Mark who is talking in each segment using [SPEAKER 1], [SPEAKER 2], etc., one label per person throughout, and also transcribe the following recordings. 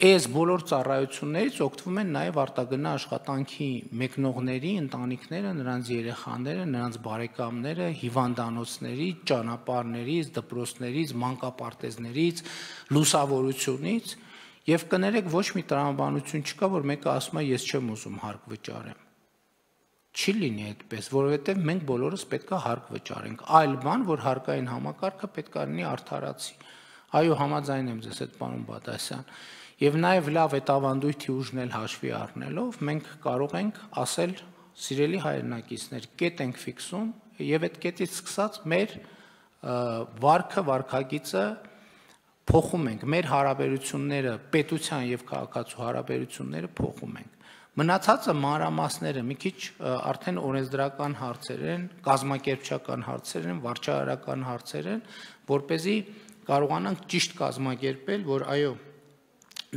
[SPEAKER 1] այս բոլոր ծառայություններից օգտվում են նաև արտագնա աշխատանքի մեկնողների, ընտանիքները, նրանց երեխաները, նրանց բարեկամները, հիվանդանոցներից, ճանապարհներից, դպրոցներից, մանկապարտեզներից, լուսավորությունից, եւ կներեք ոչ մի տրամաբանություն չկա, որ մեկը ասում է ես չեմ ուզում հարկ վճարեմ։ Չի լինի այդպես, որովհետև մենք բոլորս պետք է հարկ վճարենք։ Այլ բան, որ հարկային համակարգը պետք է լինի արդարացի։ Այո, համաձայն եմ ձեզ հետ, պարոն Բադասյան։ Եվ նաև լավ այդ ավանդույթի ուժն էլ հաշվի առնելով, մենք կարող ենք ասել, սիրելի հայրենակիցներ, կետ ենք ֆիքսում եւ այդ կետից սկսած մեր վարքը, վարքագիծը փոխում ենք, մեր հարաբերությունները, պետության եւ քաղաքացու հարաբերությունները փոխում ենք։ Մնացածը մանրամասները մի քիչ արդեն օրենսդրական հարցեր են, կազմակերպչական հարցեր են, վարչարարական հարցեր են, որպեսզի կարողանանք ճիշտ կազմակերպել, որ այո,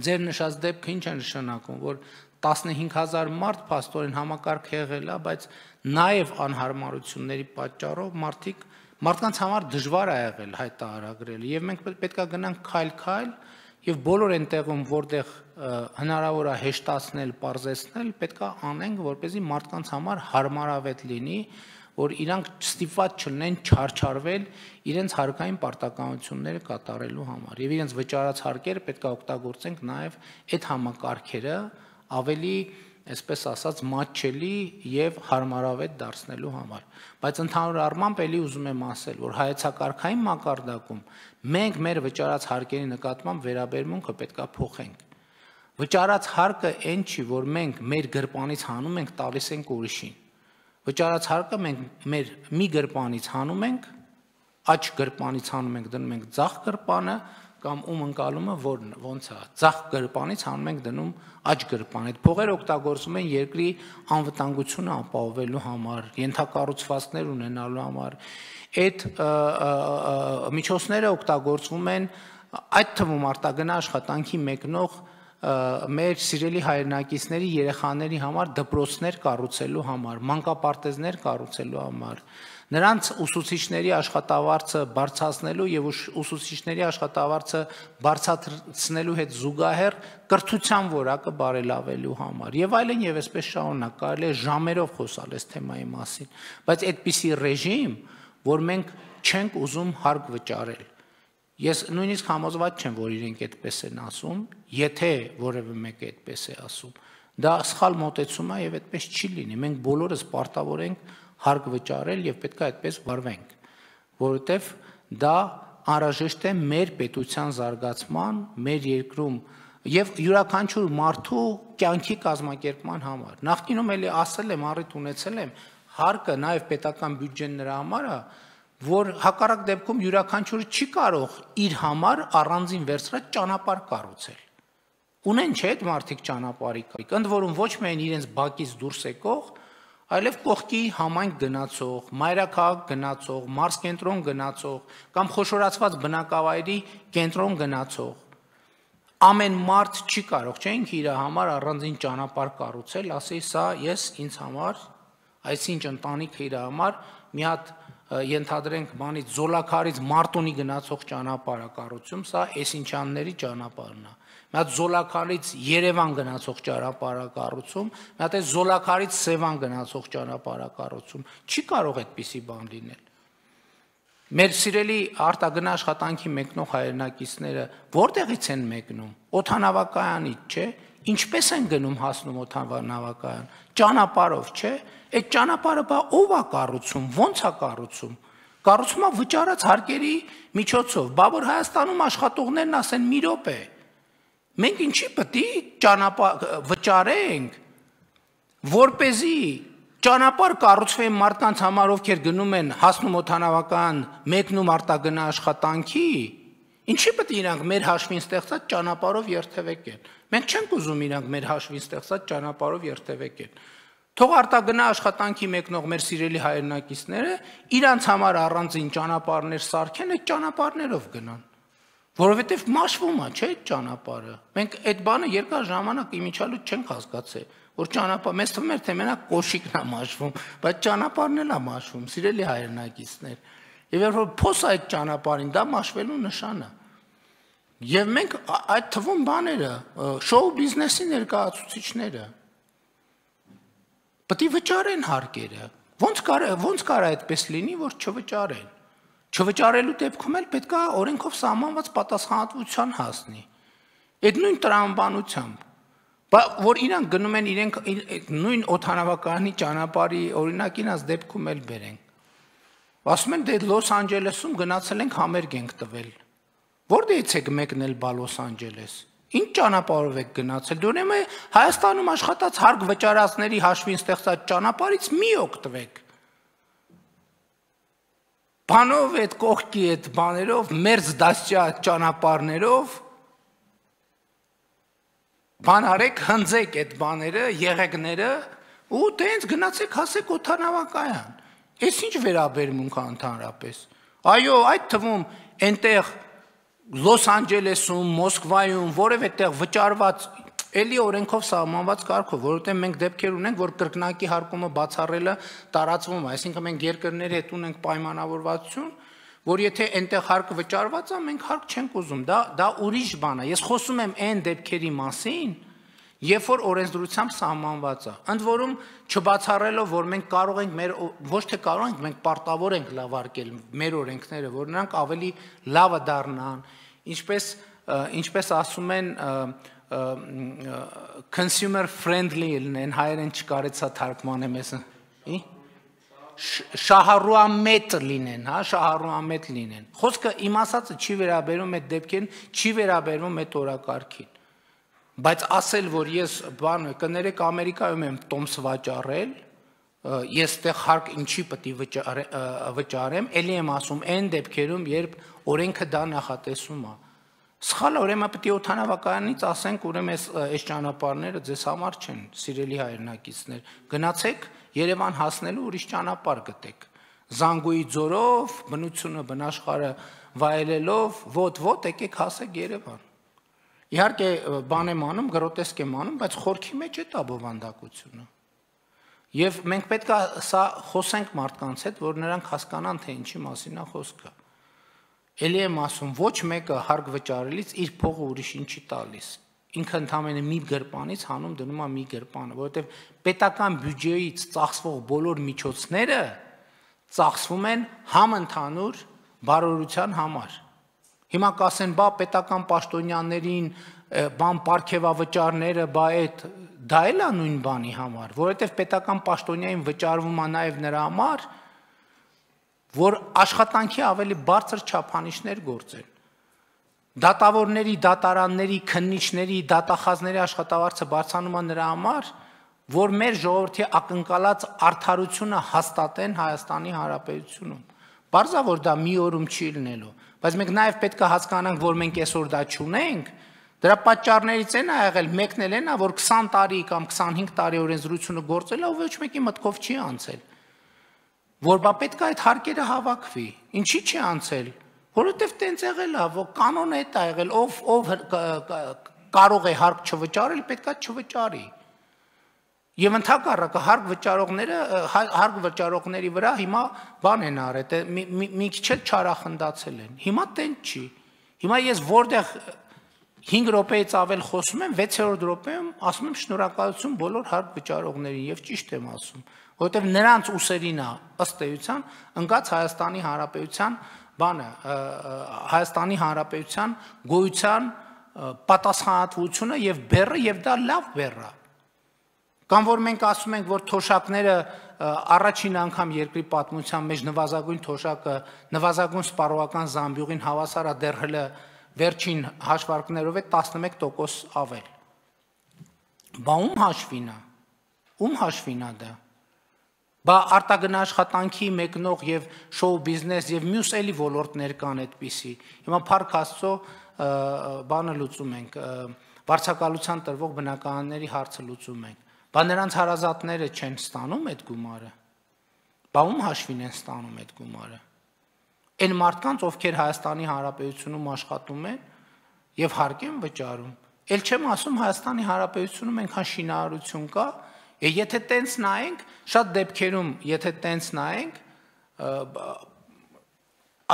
[SPEAKER 1] ձեր նշած դեպքը ինչ է նշանակում, որ 15000 մարդ փաստորեն համակարգ եղել է, բայց նաև անհարմարությունների պատճառով մարդկանց համար դժվար է եղել հայտարարել, եւ մենք պետք է գնանք քայլ-քայլ եւ բոլոր այնտեղում, որտեղ հնարավոր է հեշտացնել, պարզեցնել, պետք է անենք, որպեսզի մարդկանց համար հարմարավետ լինի, որ իրանք ստիպված չլինեն չարչարվել իրենց հարկային պարտականությունները կատարելու համար եւ իրենց վճարած հարկերը պետք է օգտագործենք նաեւ այդ համակարգերը ավելի, այսպես ասած, մատչելի եւ հարմարավետ դարձնելու համար։ Բայց ընդհանուր առմամբ էլի ուզում եմ ասել, որ հայեցակարգային մակարդակում մենք մեր վճարած հարկերի նկատմամբ վերաբերմունքը պետք է փոխենք։ Վճարած հարկը այն չի, որ մենք մեր գրպանից հանում ենք, տալիս ենք ուրիշին։ Վճարած հարկը մենք մեր մի գրպանից հանում ենք, աջ գրպանից հանում ենք, դնում ենք ձախ գրպանը, կամ ում ընկալումը ոնց է, ձախ գրպանից հանում ենք դնում աջ գրպան։ Այդ փողերը օգտագործում են երկրի անվտանգությունը ապահովելու համար, ենթակառուցվածքներ ունենալու համար։ Այդ միջոցները օգտագործվում են այդ թվում արտագնա աշխատանքի մեկնող մեր սիրելի հայրենակիցների երեխաների համար դպրոցներ կառուցելու համար, մանկապարտեզներ կառուցելու համար, նրանց ուսուցիչների աշխատավարձը բարձրացնելու եւ ուսուցիչների աշխատավարձը բարձրացնելու հետ զուգահեռ կրթության որակը բարելավելու համար եւ այլն եւ այսպես շարունակ, կարելի է ժամերով խոսալ այս թեմայի մասին, բայց այդպիսի ռեժիմ, որ մենք չենք ուզում հարկ վճարել։ Ես նույնիսկ համոզված չեմ, որ իրենք այդպես են ասում, եթե որևէ մեկը այդպես է ասում, դա սխալ մոտեցում է եւ այդպես չի լինի։ Մենք բոլորս պարտավոր ենք հարկ վճարել եւ պետք է այդպես վարվենք, որովհետեւ դա անհրաժեշտ է մեր պետության զարգացման, մեր երկրում եւ յուրաքանչյուր մարդու կյանքի կազմակերպման համար։ Նախկինում էլի ասել եմ, առիթ ունեցել եմ, հարկը նաեւ պետական բյուջեն նրա համար է, որ հակառակ դեպքում յուրաքանչյուրը չի կարող իր համար առանձին վերցրած ճանապարհ կառուցել։ Ունեն չէ՞ այդ մարդիկ ճանապարհի կայք, ընդ որում ոչ միայն իրենց բակից դուրս եկող, այլև կողքի համայնք գնացող, մայրաքաղաք գնացող, մարզկենտրոն գնացող կամ խոշորացված բնակավայրի կենտրոն գնացող։ Ամեն մարդ չի կարող, չէ՞, ինքը իր համար առանձին ճանապարհ կառուցել, ասի սա ես ինձ համար, այսինչ ընտանիքը իր համար մի հատ ենթադրենք բանից Զոլաքարից Մարտունի գնացող ճանապարհ կառուցում, սա Էսինչյանների ճանապարհն է։ Մի հատ Զոլաքարից Երևան գնացող ճանապարհ կառուցում, մի հատ Զոլաքարից Սևան գնացող ճանապարհ կառուցում։ Չի կարող այդպիսի բան լինել։ Մեր սիրելի արտագնա աշխատանքի մեկնող հայրենակիցները որտեղից են մեկնում։ Օդանավակայանից, չէ՞։ Ինչպես են գնում հասնում օդանավակայան։ Ճանապարհով, չէ՞։ Այդ ճանապարհը բա ով է կառուցում, ո՞նց է կառուցում։ Կառուցում է վճարած հարկերի միջոցով։ Բա որ Հայաստանում աշխատողներն ասեն մի րոպե։ Մենք ինչի պետք է ճանապարհ վճարենք, որպեսզի ճանապարհ կառուցվեն մարդկանց համար, ովքեր գնում են հասնում օդանավական, մեկնում արտագնա աշխատանքի, ինչի պետք է իրանք մեր հաշվին ստեղծած ճանապարհով երթևեկեն։ Մենք չենք ուզում իրանք մեր հաշվին ստեղծած ճանապարհով երթևեկեն։ Թող արտագնա աշխատանքի մեկնող մեր սիրելի հայրենակիցները իրանց համար առանձին ճանապարհներ սարքեն, այդ ճանապարհներով գնան։ Որովհետև մաշվում է, չէ՞, այդ ճանապարհը։ Մենք այդ բանը երկար ժամանակ իմիջալուց չենք հասկացել, որ ճանապարհ մեզ թվում էր թե մենակ կոշիկն է մաշվում, բայց ճանապարհն էլ է մաշվում, սիրելի հայրենակիցներ։ Եվ երբ որ փոս այդ ճանապարհին, դա մաշվելու նշան է։ Եվ մենք այդ թվում բաները, շոու բիզնեսի ներկայացուցիչները պետք է վճարեն հարկերը։ Ոնց կար այդպես լինի, որ չվճարեն։ Չվճարելու դեպքում էլ պետք է օրենքով սահմանված պատասխանատվության հասնի։ Այդ նույն տրամաբանությամբ, որ իրանք գնում են իրենք նույն օդանավակայանի ճանապարհի օրինակին աս դեպքում էլ բերենք։ Ասում են դե Լոս Անջելեսում գնացել ենք համերգ ենք տվել։ Որտեղից եք մեկնել բա Լոս Անջելես։ Ինչ ճանապարհով եք գնացել։ Դու ուրեմն Հայաստանում աշխատած հարկ վճարածների հաշվին ստեղծած ճանապարհից մի օգտվեք։ Բանով այդ կողքի այդ բաներով, մերձ դասյա ճանապարհներով բան արեք, հնձեք այդ բաները, եղեգները ու տենց գնացեք հասեք օդանավակայան։ Էս ինչ վերաբերմունք է ընդհանրապես։ Այո, այդ թվում այնտեղ Լոս Անջելեսում, Մոսկվայում, որևէ տեղ վճարված էլի օրենքով սահմանված կարգով, որովհետև մենք դեպքեր ունենք, որ կրկնակի հարկումը բացառելը տարածվում է, այսինքն մենք երկրների հետ ունենք պայմանավորվածություն, որ եթե այնտեղ հարկը վճարված է, մենք հարկ չենք ուզում, դա ուրիշ բան է։ Ես խոսում եմ այն դեպքերի մասին, երբ որ օրենսդրությամբ սահմանված է։ Ընդ որում չբացառելով, որ մենք կարող ենք ոչ թե կարող ենք, մենք պարտավոր ենք լավարկել մեր օրենքները, որ նրանք ավելի լավը դառնան, ինչպես ասում են consumer friendly լինեն, հայերեն չկարեցա թարգմանեմ ես, շահառուամետ լինեն, հա, շահառուամետ լինեն։ Խոսքը իմ ասածը չի վերաբերում այդ դեպքին, չի վերաբերում այդ օրակարգին։ Բայց ասել, որ ես բանը կներեք Ամերիկայում եմ տոմս վաճառել, ես այդտեղ հարկ ինչի պետք է վճարեմ, ելի եմ ասում այն դեպքերում, երբ օրենքը դա նախատեսում է։ Սխալ ուրեմն պետք է օդանավակայանից ասենք, ուրեմն այս ճանապարհները ձեզ համար չեն, սիրելի հայրենակիցներ։ Գնացեք Երևան հասնելու ուրիշ ճանապարհ գտեք։ Զանգուի ձորով, բնությունը, բնաշխարհը վայելելով, ոտ եկեք հասեք Երևան։ Իհարկե բան եմ անում, գրոտեսկ եմ անում, բայց խորքի մեջ է դա բովանդակությունը։ Եվ մենք պետք է սա խոսենք մարդկանց հետ, որ նրանք հասկանան, թե ինչի մասին է խոսքը։ Էլի եմ ասում, ոչ մեկը հարկ վճարելից իր փողը ուրիշին չի տալիս։ Ինքը ընդամենը մի գրպանից հանում դնում է մի գրպանը, որովհետև պետական բյուջեից ծախսվող բոլոր միջոցները ծախսվում են համընդհանուր բարօրության համար։ Հիմա կասեն, բա պետական պաշտոնյաներին, բան պարգևավճարները, բա դա էլ է նույն բանի համար, որովհետև պետական պաշտոնյային վճարվում է նաև նրա համար, որ աշխատանքի ավելի բարձր չափանիշներ գործեն։ Դատավորների, դատարանների, քննիչների, դատախազների աշխատավարձը բարձրանում է նրա համար, որ մեր ժողովրդի ակնկալած արդարությունը հաստատեն Հայաստանի Հանրապետությունում։ Պարզա որ դա մի օրում չի լինելու, բայց մենք նաև պետք է հասկանանք, որ մենք այսօր դա չունենք, դրա պատճառներից են եղել, մեկն էլ են, որ 20 տարի կամ 25 տարի օրենսդրությունը գործել է, ու ոչ մեկի մտքով չի անցել։ Որ բա պետք է այդ հարկերը հավաքվի։ Ինչի՞ չի անցել։ Որովհետև տենց եղել է, որ կանոնը այդ է եղել, ով կարող է հարկ չվճարել, պետք է չվճարի։ Եվ ընդհակառակը հարկ վճարողների վրա հիմա բան են արել, մի քիչ էլ չարախնդացել են։ Հիմա տենց չի։ Հիմա ես որտեղ 5 րոպեից ավել խոսում եմ, 6-րդ րոպեում ասում եմ շնորհակալություն բոլոր հարկ վճարողներին եւ ճիշտ եմ ասում, որովհետեւ նրանց ուսերին է ըստ էության ընկած Հայաստանի Հանրապետության բանը, Հայաստանի Հանրապետության գոյության պատասխանատվությունը եւ բեռը եւ դա լավ բեռ է։ Կամ որ մենք ասում ենք, որ թոշակները առաջին անգամ երկրի պատմության մեջ նվազագույն թոշակը, նվազագույն սպառողական զամբյուղին հավասար է դեռ հələ վերջին հաշվարկներով է 11% ավել։ Բա ում հաշվին է։ Ում հաշվին է դա։ Բա արտագնա աշխատանքի մեկնող եւ շոու բիզնես եւ մյուս էլի ոլորտներ կան այդպիսի։ Հիմա Փառք Աստծո բանը լուծում ենք, վարձակալության տրվող բնակարանների հարցը լուծում ենք։ Բա նրանց հարազատները չեն ստանում այդ գումարը։ Բա ում հաշվին են ստանում այդ գումարը։ Այն մարդկանց, ովքեր Հայաստանի Հանրապետությունում աշխատում են եւ հարկ են վճարում։ Էլ չեմ ասում Հայաստանի Հանրապետությունում այնքան շինարարություն կա, եթե տենց նայենք, շատ դեպքերում, եթե տենց նայենք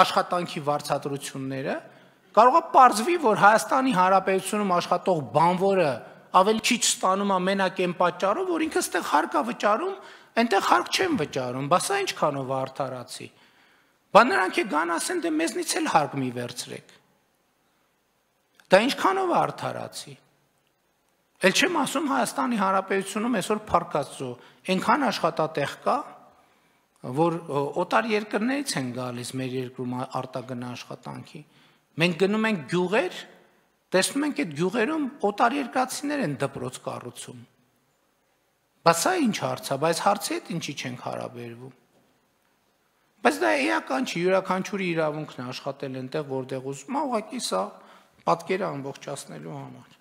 [SPEAKER 1] աշխատանքի վարձատրությունները, կարող է պարզվի, որ Հայաստանի Հանրապետությունում աշխատող բանվորը ավելի քիչ ստանում է մենակ այն պատճառով, որ ինքը ստեղ հարկ է վճարում, այնտեղ հարկ չեն վճարում, բա սա ինչքանով է արդարացի։ Բա նրանք է գան ասեն, դե մեզնից էլ հարկ մի վերցրեք։ Դա ինչքանով է արդարացի։ Էլ չեմ ասում Հայաստանի Հանրապետությունում այսօր փառքաստու այնքան աշխատատեղ կա, որ օտար երկրներից են գալիս մեր երկրում արտագնա աշխատանքի։ Մենք գնում ենք գյուղեր, տեսնում ենք այդ գյուղերում օտար երկրացիներ են դպրոց կառուցում։ Բա սա ինչ հարց է, բայց հարցի հետ ինչի չենք հարաբերվում։ Բայց դա էական չի, յուրաքանչյուրի իրավունքն է աշխատել այնտեղ, որտեղ ուզում է, ուղղակի սա պատկերը ամբողջացնելու համար։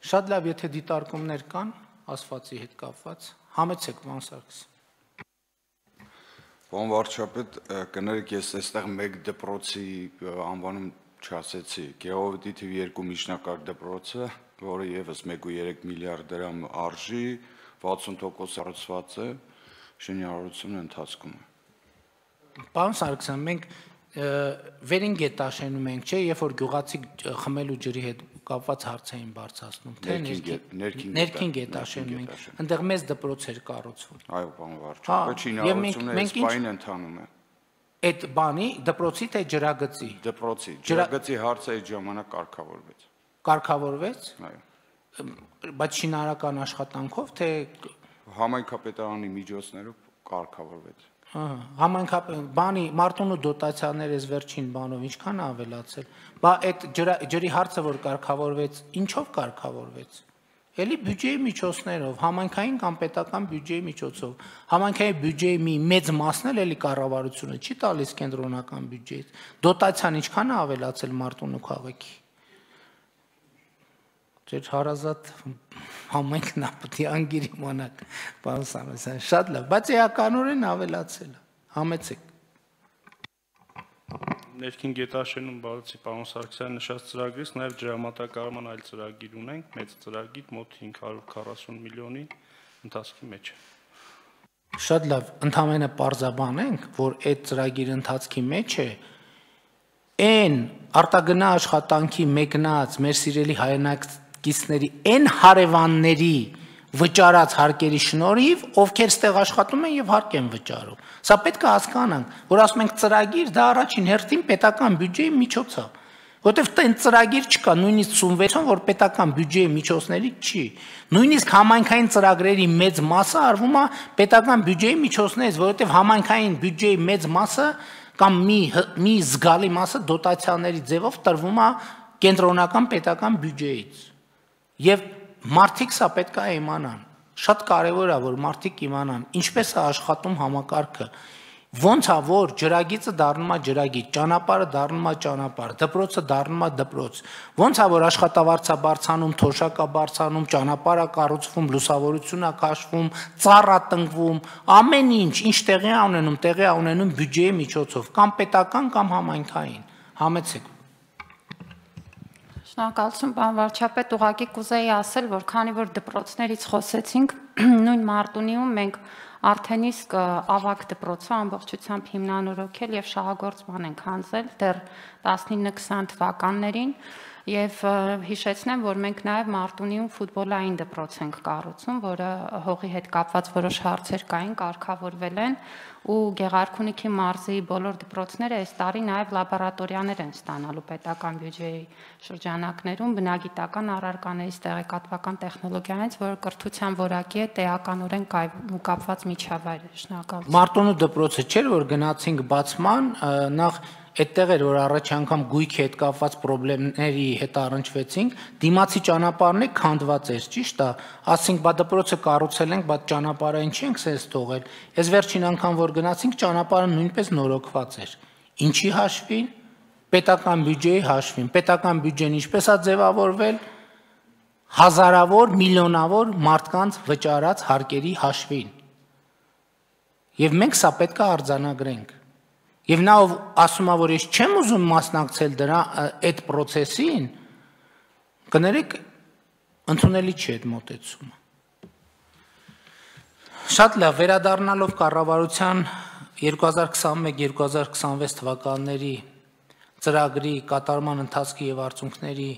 [SPEAKER 1] Շատ լավ, եթե դիտարկումներ կան, ասվածի հետ կապված, համեցեք, պարոն Սարգսյան։
[SPEAKER 2] Պարոն վարչապետ, կներեք, ես այստեղ մեկ դպրոցի անվանում չասեցի, Գեղովետի թիվ 2 միջնակարգ դպրոցը, որը եւս 1.3 միլիարդ դրամ արժի, 60% հարուցված է, շինարարությունը ընթացքում է։
[SPEAKER 1] Պարոն Սարգսյան, մենք վերին գետաշենում ենք, չէ, երբ որ գյուղացիք խմելու ջրի հետ կապված հարց էին բարձրացնում, թե ներքին գետաշենում ենք, այնտեղ մեծ դպրոց էր կառուցվում։
[SPEAKER 2] Այո, պարոն վարչապետ, շինարարությունը այս պայն ընթանում է։
[SPEAKER 1] Այդ բանի դպրոցի թե ջրագծի։
[SPEAKER 2] Դպրոցի, ջրագծի հարցը այդ ժամանակ կարգավորվեց։
[SPEAKER 1] Կարգավորվեց։
[SPEAKER 2] Այո։
[SPEAKER 1] Բայց շինարարական աշխատանքով թե
[SPEAKER 2] համայնքապետարանի միջոցներով կարգավորվեց։
[SPEAKER 1] Բանի Մարտունու դոտացիաները այս վերջին բանով ինչքան է ավելացել։ Բա այդ ջրի հարցը որ կարգավորվեց, ինչով կարգավորվեց։ Էլի բյուջեի միջոցներով, համայնքային կամ պետական բյուջեի միջոցով։ Համայնքային բյուջեի մի մեծ մասն էլ էլի կառավարությունը չի տալիս կենտրոնական բյուջեից։ Դոտացիան ինչքան է ավելացել Մարտունու քաղաքի։ Ձեր հարազատ համայնքն է պետք է անգիր իմանաք, պարոն Սարգսյան, շատ լավ, բայց էականորեն ավելացել է, համեցեք։
[SPEAKER 3] Ներքին գետաշենում բացի պարոն Սարգսյանի նշած ծրագրից նաև ջրամատակարարման այլ ծրագիր ունենք, մեծ ծրագիր մոտ 540 միլիոնի ընթացքի մեջ է։
[SPEAKER 1] Շատ լավ, ընդհանրապես պարզաբանենք, որ այդ ծրագիրի ընթացքի մեջ է այն արտագնա աշխատանքի մեկնած մեր սիրելի հայրենակիցների այն հարևանների վճարած հարկերի շնորհիվ, ովքեր ստեղ աշխատում են եւ հարկ են վճարում։ Սա պետք է հասկանանք, որ ասում ենք ծրագիր, դա առաջին հերթին պետական բյուջեի միջոց է, որտեղ այն ծրագիր չկա, նույնիսկ 86-ում, որ պետական բյուջեի միջոցներից չի։ Նույնիսկ համայնքային ծրագրերի մեծ մասը արվում է պետական բյուջեի միջոցներից, որովհետեւ համայնքային բյուջեի մեծ մասը կամ մի զգալի մասը դոտացիաների ձևով տրվում է կենտրոնական պետական բյուջեից։ Եվ մարդիկ սա պետք է իմանան, շատ կարևոր է, որ մարդիկ իմանան, ինչպես է աշխատում համակարգը, ոնց է, որ ջրագիծը դառնում է ջրագիծ, ճանապարհը դառնում է ճանապարհ, դպրոցը դառնում է դպրոց, ոնց է, որ աշխատավարձ է բարձրանում, թոշակ է բարձրանում, ճանապարհ է կառուցվում, լուսավորություն է քաշվում, ծառ է տնկվում, ամեն ինչ տեղի է ունենում բյուջեի միջոցով, կամ պետական, կամ համայնքային, համեցեք։
[SPEAKER 4] Շնորհակալություն, պարոն վարչապետ, ուղղակի կուզեի ասել, որ քանի որ դպրոցներից խոսեցինք, նույն Մարտունիում մենք արդեն իսկ ավագ դպրոցը ամբողջությամբ հիմնանորոգել եւ շահագործման ենք հանձնել դեռ 19-20 թվականներին եւ հիշեցնեմ, որ մենք նաեւ Մարտունիում ֆուտբոլային դպրոց ենք կառուցում, որը հողի հետ կապված որոշ հարցեր կային, կարգավորվել են ու Գեղարքունիքի մարզի բոլոր դպրոցները այս տարի նաև լաբորատորիաներ են ստանալու պետական բյուջեի շրջանակներում բնագիտական առարկաներից տեղեկատվական տեխնոլոգիաներից, որը կրթության որակի հետ էականորեն կապված միջավայր է։ Շնորհակալություն։
[SPEAKER 1] Մարտունու դպրոցը չէր, որ գնացինք բացման, նախ այդտեղ էր, որ առաջ անգամ գույքի հետ կապված խնդիրների հետ առնչվեցինք, դիմացի ճանապարհն է քանդված էր, ճիշտ է, ասենք բա դպրոցը կառուցել ենք, բա ճանապարհային չենք սենց թողել։ Այս վերջին անգամ որ գնացինք, ճանապարհը նույնպես նորոգված էր։ Ինչի հաշվին։ Պետական բյուջեի հաշվին։ Պետական բյուջեն ինչպես է ձևավորվել, հազարավոր, միլիոնավոր մարդկանց վճարած հարկերի հաշվին։ Եվ մենք սա պետք է արձանագրենք։ Եվ նա ով ասում է, որ ես չեմ ուզում մասնակցել դրա այդ process-ին, կներեք, ընդունելի չի այդ մոտեցումը։ Շատ լավ, վերադառնալով կառավարության 2021-2026 թվականների ծրագրի կատարման ընթացքի եւ արդյունքների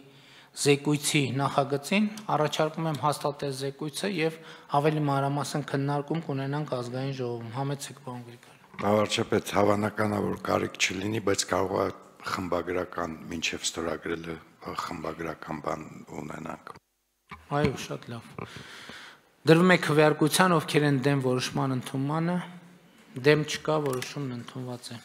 [SPEAKER 1] զեկույցի նախագծին, առաջարկում եմ հաստատել զեկույցը եւ ավելի մանրամասն քննարկում կունենանք ազգային ժողովում։ Համեցեք, պարոն Գրիգորյան։
[SPEAKER 5] Վարչապետ, հավանական է, որ կարիք չլինի, բայց կարող է խմբագրական մինչև ստորագրելը խմբագրական բան ունենանք։
[SPEAKER 1] Այո, շատ լավ։ Դրվում է քվեարկության, ովքեր են դեմ որոշման ընդունմանը, դեմ չկա, որոշումն ընդունված է։